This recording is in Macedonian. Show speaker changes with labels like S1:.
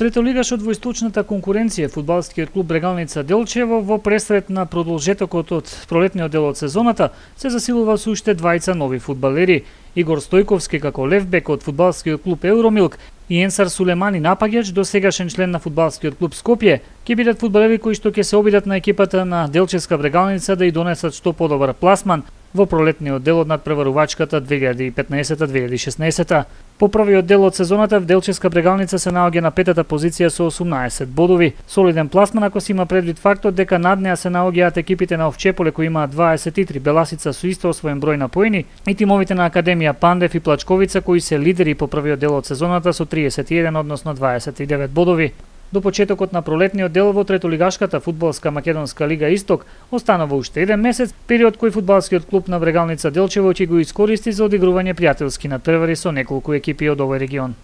S1: Третолигашот во источната конкуренција, фудбалскиот клуб Брегалница Делчево во пресрет на продолжетокот од пролетниот дел од сезоната се засилува со уште двајца нови фудбалери. Игор Стојковски како левбек од фудбалскиот клуб Евромилк и Енсар Сулемани напаѓач, досегашен член на фудбалскиот клуб Скопје, ќе бидат фудбалери кои што ќе се обидат на екипата на Делчевска Брегалница да ја донесат што подобар пласман во пролетниот дел од надпреварувачката 2015-2016. По првиот дел од сезоната в Делчевска Брегалница се наоѓа на петата позиција со 18 бодови. Солиден пласман ако се има предвид фактот дека над неа се наоѓаат екипите на Овчеполе кои имаат 23, Беласица со исто освоен број на поени и тимовите на Академија Пандев и Плачковица кои се лидери по првиот дел од сезоната со 31, односно 29 бодови. До почетокот на пролетниот дел во третолигашката фудбалска македонска лига Исток останува уште еден месец, период кој фудбалскиот клуб на Брегалница Делчево ќе го искористи за одигрување пријателски надпревари со неколку екипи од овој регион.